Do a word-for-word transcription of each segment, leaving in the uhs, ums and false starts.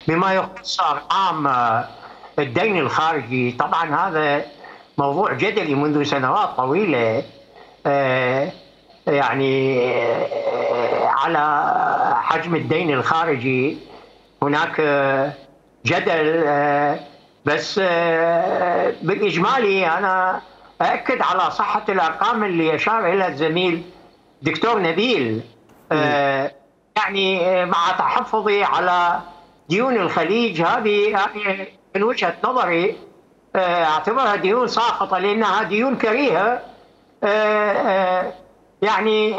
بما يخص ارقام الدين الخارجي. طبعا هذا موضوع جدلي منذ سنوات طويله، يعني على حجم الدين الخارجي هناك جدل، بس بالاجمالي انا اؤكد على صحه الارقام اللي اشار اليها الزميل دكتور نبيل. يعني مع تحفظي على ديون الخليج، هذه من وجهه نظري اعتبرها ديون ساقطه لانها ديون كريهه، يعني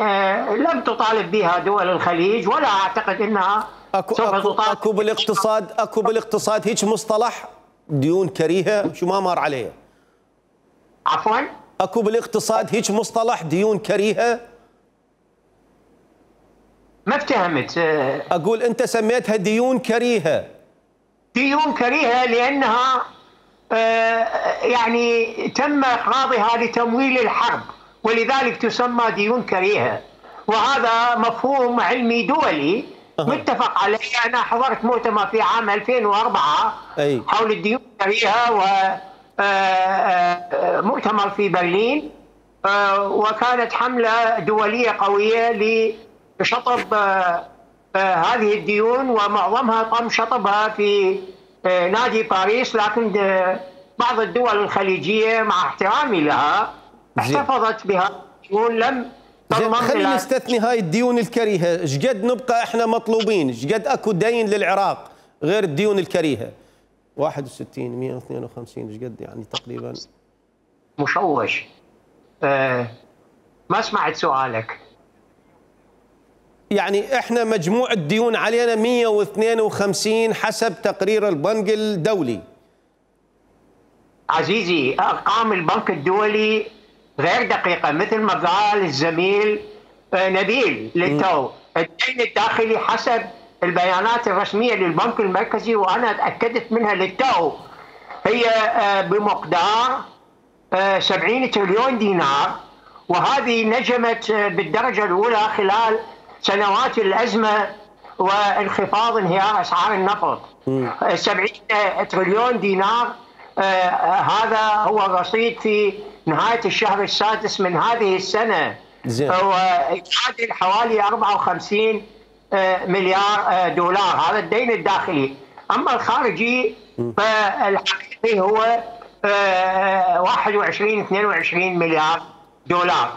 لم تطالب بها دول الخليج، ولا اعتقد انها اكو اكو اكو بالاقتصاد اكو بالاقتصاد هيك مصطلح ديون كريهه، شو ما مر عليه؟ عفوا؟ اكو بالاقتصاد هيك مصطلح ديون كريهه؟ ما افتهمت. اقول انت سميتها ديون كريهه. ديون كريهه لانها يعني تم اقراضها لتمويل الحرب، ولذلك تسمى ديون كريهه، وهذا مفهوم علمي دولي متفق عليه. انا حضرت مؤتمر في عام ألفين وأربعة أي. حول الديون الكريهه، ومؤتمر في برلين، وكانت حمله دوليه قويه لشطب هذه الديون، ومعظمها تم شطبها في نادي باريس، لكن بعض الدول الخليجيه مع احترامي لها احتفظت بها الديون، لم زين خلينا نستثني هاي الديون الكريهه. ايش قد نبقى احنا مطلوبين؟ ايش قد اكو دين للعراق غير الديون الكريهه؟ واحد وستين مئة واثنين وخمسين، ايش قد يعني تقريبا؟ مشوش. أه ما سمعت سؤالك. يعني احنا مجموع الديون علينا مئة واثنين وخمسين حسب تقرير البنك الدولي. عزيزي، ارقام البنك الدولي غير دقيقه، مثل ما قال الزميل نبيل للتو. الدين الداخلي حسب البيانات الرسميه للبنك المركزي، وانا تاكدت منها للتو، هي بمقدار سبعين تريليون دينار، وهذه نجمت بالدرجه الاولى خلال سنوات الازمه وانخفاض انهيار اسعار النفط. سبعين تريليون دينار، آه هذا هو الرصيد في نهايه الشهر السادس من هذه السنه، ويعادل حوالي أربعة وخمسين آه مليار آه دولار. هذا الدين الداخلي. اما الخارجي فالحقيقي هو آه واحد وعشرين اثنين وعشرين مليار دولار.